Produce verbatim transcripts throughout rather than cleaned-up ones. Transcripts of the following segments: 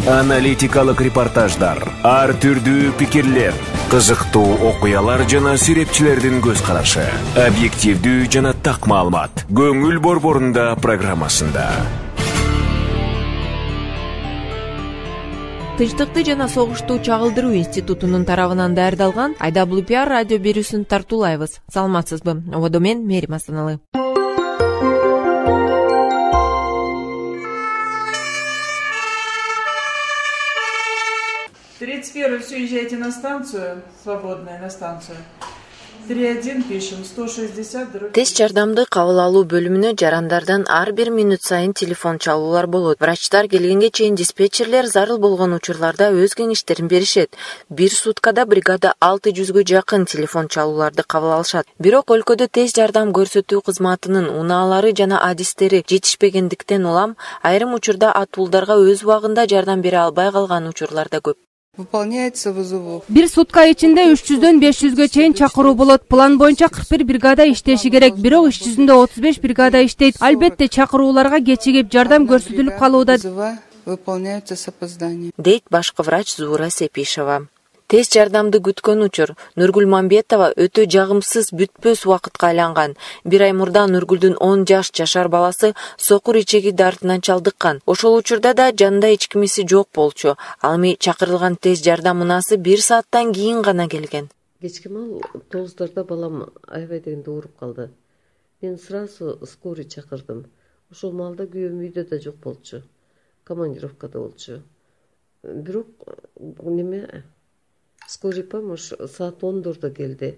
Аналитикалык репортаждар, ар түрдүү пикирлер, кызыктуу окуялар жана сүрөтчүлөрдүн көз карашы, объективдүү жана так маалымат. Көңүл борборунда программасында. Тынчтыкты жана согушту чагылдыруу институтунун тарабынан даярдалган ай дабл ю пи ар радио берүүсүн тартуулайбыз. Саламатсызбы? Ободо мен Мерим Астаналы. тридцать первый все езжайте на станцию, свободная на станцию. три один пишем, сто шестьдесят. Тест жардамды кабыл алуу бөлүмүнө жарандардан ар бир мүнөт сайын телефон чалуулар болот. Врачтар келгенге чейин диспетчерлер зарыл болгон учурларда өз кеңештерин беришет. Бир суткада бригада алты жүзгө жакын телефон чалууларды кабыл алышат. Бирок өлкөдө тест жардам көрсөтүү кызматынын унаалары жана адистери жетишпегендиктен улам айрым учурда атуулдарга өз убагында жардам бере албай калган учурлар да көп. Выполняется вызовов. Бир сутка ичинде үч жүздөн беш жүзгө чейин чакыруу болот. План боюнча кырк бир бригада иштеши керек. Бирок иш жүзүндө отуз беш бригада иштейт. Албетте чакырууларга кечигип жардам көрсөтүлүп калууда. Выполняются с опозданием. Дейт башкы врач Зуура Сепишева. Тест жардамды күткөн учур Нургүл Мамбетова өтө жагымсыз бүтпөс убакытка айланган. Бир ай мурда Нургүлдүн он жаш жашар баласы сокур ичеги дартынан чалдыккан. Ошол учурда да жанында эч кимиси жок болчу. Ал эми чакырылган тест жардам унасы бир сааттан кийин гана келген. Кечки мал тогуздарда балам аябай дегенде ооруп калды. Мен сразу скорый чакырдым. Ошол маалда күйөөм үйдө да жок болчу. Командировкада болчу. Бирок неме скорый помощь саат ондордо келди.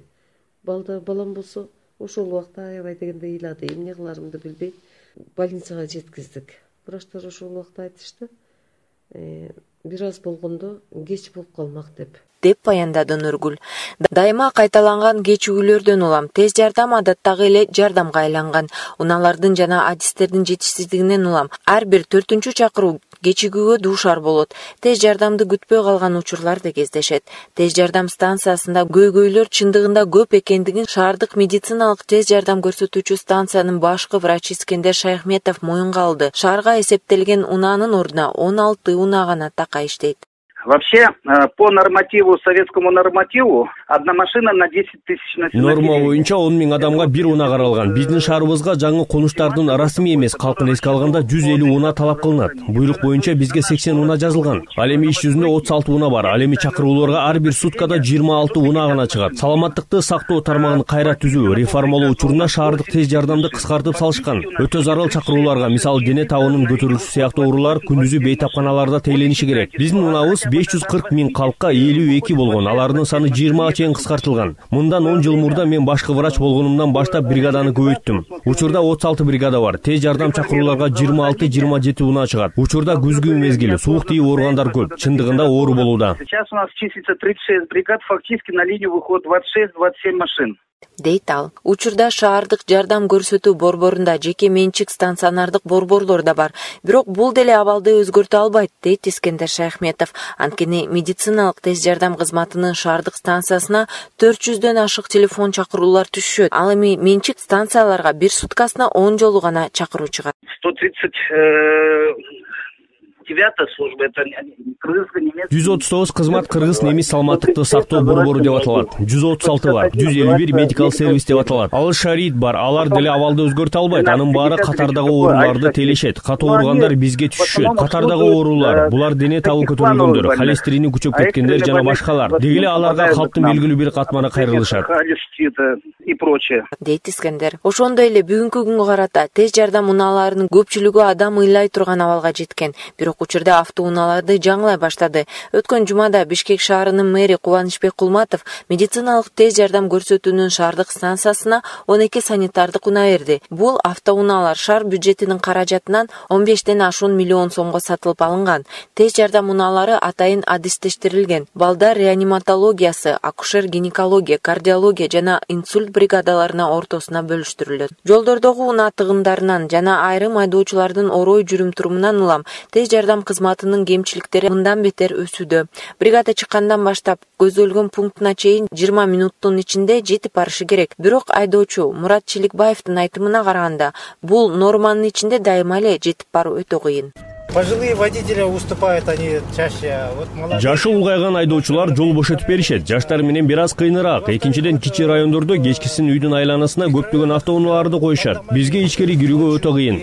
Балда балам болсо ошол убакта аябай дегенде ыйлады. Эмне кыларымды билбей больницага жеткиздик. Врачтар ошол убакта айтышты, бир аз болгондо кеч болуп калмак деп. деп баяндады Нургүл. Дайыма кайталанган кечигүүлөрдөн улам тест жардам адаттагы эле жардамга айланган. Унаалардын жана адистердин жетишсиздигинен улам ар бир төртүнчү чакыруу кечигүүгө дуушар болот. Тест жардамды күтпөй калган учурлар да кездешет. Тест жардам станциясында көйгөйлөр чындыгында көп экендигин шаардык медициналык тест жардам көрсөтүүчү станциянын башкы врачы Искендер Шайхметов моюнга алды. Шаарга эсептелген унаанын ордуна он алты унаа гана така иштейт. Вообще, по нормативу, советскому нормативу, одна машина на десять тысяч населения. Норма боюнча он миң адамга бир унаа каралган. Биздин шаарыбызга жаңы конуштардын расмий эмес калкын эске алганда жүз элүү унаа талап кылынат. Буйрук боюнча бизге сексен унаа жазылган. Ал эми иш жүзүндө отуз алты унаа бар. Ал эми чакырууларга ар бир суткада жыйырма алты унаа гана чыгат. Саламаттыкты сактоо тармагын кайра түзүү, реформалоо учуруна шаардык тест жардамды кыскартып салышкан. Өтө зарыл чакырууларга, мисалы дене табынын көтөрүлүшү сыяктуу оорулар күндүзү бейтапканаларда тейлениши керек. Биздин унаабыз беш жүз кырк миң калкка элүү эки болгон. Алардын саны жыйырмага чейин кыскартылган. Мындан он жыл мурда мен башкы врач болгонумдан баштап бригаданы көбөйттүм. Учурда отуз алты бригада бар. Тест жардам чакырууларга жыйырма алты жыйырма жети унаа чыгат. Учурда күзгү мезгили, суук тийип ооругандар көп. Чындыгында оору болууда. Сейчас у нас числится тридцать шесть бригад, фактически на линию выходит двадцать шесть — двадцать семь машин. Дейт ал. Учурда шаардык жардам көрсөтүү борборунда жеке менчик стационардык борборлор да бар. Бирок бул деле абалды өзгөртө албайт, дейт Искендер Шайхметов. Анткени медициналык тест жардам кызматынын шаардык станциясына төрт жүздөн ашык телефон чакыруулар түшөт. Ал эми менчик станцияларга бир суткасына он жолу гана чакыруу чыгат. сто тридцать девятая служба, это кыргызско-немецкий. жүз отуз тогуз кызмат кыргыз немис саламаттыкты сактоо борбору деп аталат. жүз отуз алты бар. жүз элүү бир медикал сервис деп аталат. Ал шарит бар. Алар деле абалды өзгөртө албайт. Анын баары катардагы ооруларды тейлешет. Катуу ооругандар бизге түшүшөт. Катардагы оорулар, булар дене табы көтөрүлгөндөр, холестерини күчөп кеткендер жана башкалар. Дегеле аларга калктын белгилүү бир катманы кайрылышат. И прочее. Дейт Искендер. Ошондой эле бүгүнкү күнгө карата тест жардам унааларынын көпчүлүгү адам ыйлай турган абалга жеткен. Бирок учурда автоунааларды жаңылай баштады. Өткөн жумада Бишкек шаарынын мэри Кубанычбек Кулматов медициналык тест жардам көрсөтүүнүн шаардык станциясына он эки санитардык унаа берди. Бул автоунаалар шаар бюджетинин каражатынан он бештен ашуун миллион сомго сатылып алынган. Тест жардам унаалары атайын адистештирилген. Балдар реаниматологиясы, акушер-гинекология, кардиология жана инсульт бригадаларына ортосуна бөлүштүрүлөт. Жолдордогу унаа тыгындарынан жана айрым айдоочулардын орой жүрүм-турумунан улам тест жардам кызматынын кемчиликтери мындан бетер өсүүдө. Бригада чыккандан баштап көзөлгөн пунктуна чейин жыйырма минуттун ичинде жетип барышы керек. Бирок айдоочу Мурат Челикбаевдин айтымына караганда, бул норманын ичинде дайыма эле жетип баруу өтө кыйын. Пожилые водители уступают, они чаще. Жашы улгайган айдоочулар жол бошотуп беришет. Жаштар менен бир аз кыйыныраак. Экинчиден кичи райондордо кечкисин үйдүн айланасына көптөгөн автоунааларды коюшат. Бизге ичкери кирүүгө өтө кыйын.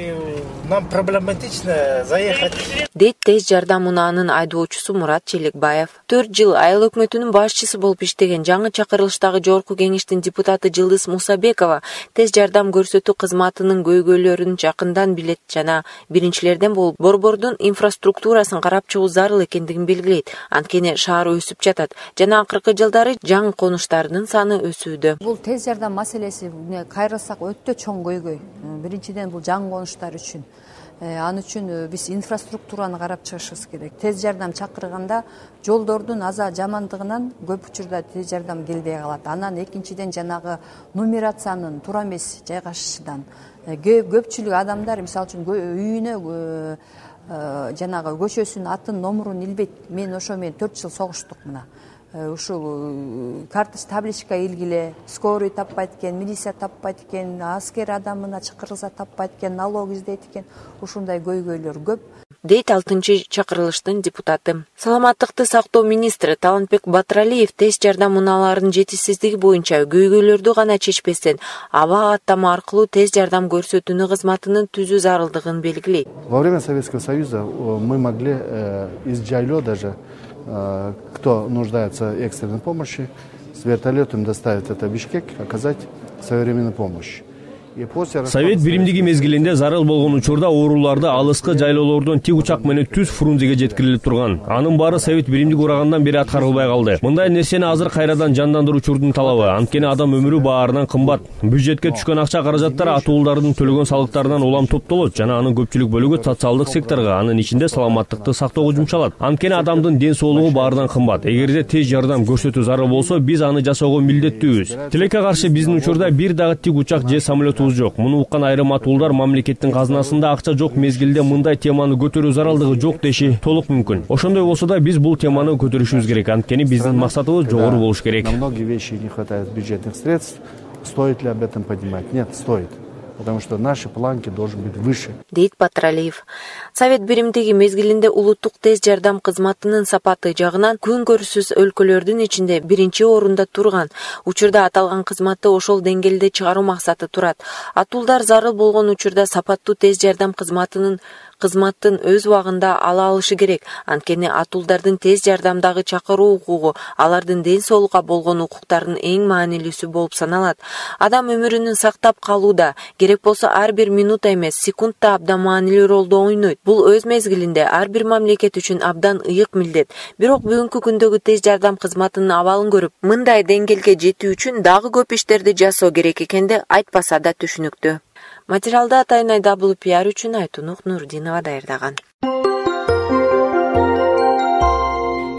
Нам проблематично заехать. Дейт тез жардам унаанын айдоочусу Мурат Челекбаев. төрт жыл айыл өкмөтүнүн башчысы болуп иштеген жаңы чакырылыштагы жогорку кеңештин депутаты Жылдыз Мусабекова тез жардам көрсөтүү кызматынын көйгөйлөрүн жакындан билет жана биринчилерден болуп борбордун инфраструктурасын карап чыгуу зарыл экендигин белгилейт. Анткени шаар өсүп жатат жана акыркы жылдары жаңы конуштардын саны өсүүдө. Бул тез жардам маселеси кайрылсак өтө чоң көйгөй. Биринчиден бул жаңы конуштар үчүн. Ан үчүн биз инфраструктураны карап чыгышыбыз керек. Тез жардам чакырганда жолдордун аза жамандыгынан көп учурда тез жардам келбей калат. Анан экинчиден жанагы нумерациянын туура эмес жайгашышынан көпчүлүк адамдар мисалы үчүн үйүнө жанагы көчөсүнүн атын номурун илбейт. Мен ошо менен төрт жыл согуштук мына. Ушул карточка табличка илгиле, скорый таппайт экен, милиция таппайт экен, аскер адамына чакырылса таппайт экен, налог издейт экен. Ушундай көйгөйлөр көп. Дейт алтынчы чакырылыштын депутаты. Саламаттыкты сактоо министри Талантбек Батыралиев тез жардам унааларынын жетишсиздиги боюнча көйгөйлөрдү гана чечпестен аба каттама аркылуу тез жардам көрсөтүүнү кызматынын түзүү зарылдыгын белгилейт. Во время Советского Союза мы могли из жайло даже кто нуждается в экстренной помощи, с вертолетом доставить это в Бишкек, оказать своевременную помощь. Совет биримдиги мезгилинде зарыл болгон учурда ооруларды алыскы жайлоолордон тик учак менен түз Фрунзеге жеткирилип турган. Анын баары Совет биримдиги урагандан бери аткарылбай калды. Мындай нерсени азыр кайрадан жандандыруучурдун талабы. Анткени адам өмүрү баарынан кымбат. Бюджетке түшкөн акча каражаттар атуулардын төлөгөн салыктарынан улам топтолот жана анын көпчүлүк бөлүгү социалдык секторго, анын ичинде саламаттыкты сактоого жумшалат. Анткени адамдын ден соолугу баарынан кымбат. Эгерде тез жардам көрсөтүү зарыл болсо, биз аны жасоого милдеттүүбүз. Тилекке каршы биздин учурда бир дагы тик учак же самолет жок. Муну уккан айрым атуулдар мамлекеттин казынасында акча жок мезгилде мындай теманы көтөрүү зарылдыгы жок деши толук мүмкүн. Ошондой болсо да биз бул теманы көтөрүшүбүз керек. Анткени биздин максатыбыз жогору болуш керек. На многие вещи не хватает бюджетных средств. Стоит ли об этом поднимать? Нет, стоит. Потому что наши планки должны быть выше. Дейт Батыралиев. Совет биримдиги мезгилинде улуттук тез жардам кызматынын сапаты жагынан күн көрүсүз өлкөлөрдүн ичинде биринчи орунда турган. Учурда аталган кызматты ошол деңгээлде чыгаруу максаты турат. Атуулдар зарыл болгон учурда сапаттуу тез жардам кызматынын кызматтын өз убагында ала алышы керек. Анткени атуулдардын тез жардамдагы чакыруу укугу алардын ден соолукка болгон укуктарынын эң маанилүүсү болуп саналат. Адам өмүрүн сактап калууда керек болсо ар бир минута эмес, секундта абдан маанилүү ролду ойнойт. Бул өз мезгилинде ар бир мамлекет үчүн абдан ыйык милдет. Бирок бүгүнкү күндөгү тез жардам кызматынын абалын көрүп, мындай деңгээлге жетүү үчүн дагы көп иштерди жасоо керек экенди айтпаса да түшүнүктүү. Материалды атайын ай дабл ю пи ар үчүн Айтунук Нурдинова даярдаган.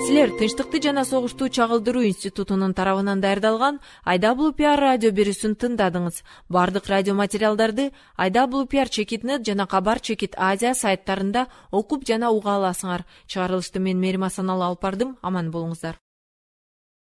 Силер Тынчтыкты жана согушту чагылдыруу институтунун тарабынан даярдалган ай дабл ю пи ар радио берүүсүн тыңдадыңыз. Бардык радио материалдарды ай дабл ю пи ар чекит нет жана Кабар чекит Азия сайттарында окуп жана уга аласыңар. Чыгарылышты мен Мерим Асаналы алып бардым. Аман болуңуздар.